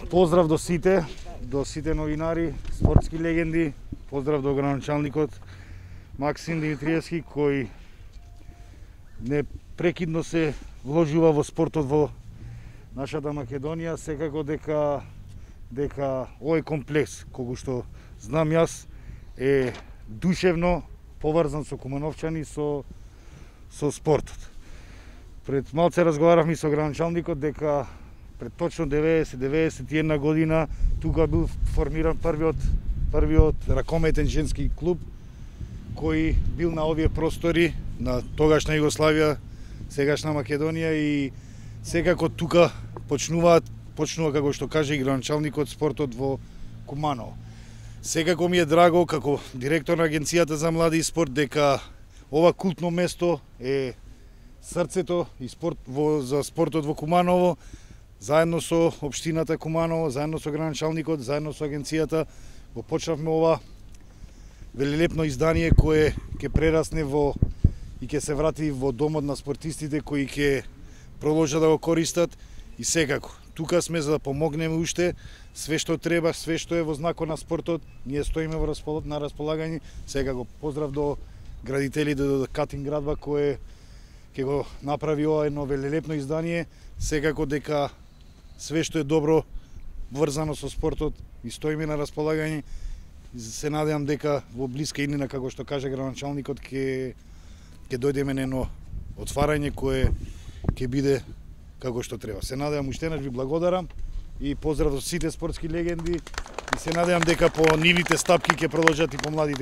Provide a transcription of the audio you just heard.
Поздрав до сите новинари, спортски легенди, поздрав до градоначалникот Максим Димитриевски, кој непрекидно се вложува во спортот во нашата Македонија. Секако дека овој комплекс, колку што знам јас, е душевно поврзан со кумановчани, со спортот. Пред малце разговаравме со градоначалникот дека пред точно 90-91 година тука бил формиран првиот ракометен женски клуб кој бил на овие простори на тогашна Југославија, сегашна Македонија, и секако тука почнува како што каже и градоначалникот, спортот во Куманово. Секако ми е драго како директор на Агенцијата за млади и спорт дека ова култно место е срцето и за спортот во Куманово. Заедно со општината Куманово, заедно со градоначалникот, заедно со агенцијата го почнавме ова велелепно издание кое ќе прерасне и ќе се врати во домот на спортистите кои ќе продолжат да го користат. И секако тука сме за да помогнеме уште све што треба, све што е во знакот на спортот. Ние стоиме на располагање. Секако поздрав до градителите до Катин градба кој ќе го направи ова едно велелепно издание. Секако дека све што е добро врзано со спортот и стоиме на располагање. Се надевам дека во блиска иднина, како што каже градоначалникот, ќе дојдеме на едно отварање кое ќе биде како што треба. Се надевам, уште ви благодарам и поздрав до сите спортски легенди и се надевам дека по нивните стапки ќе продолжат и по младите.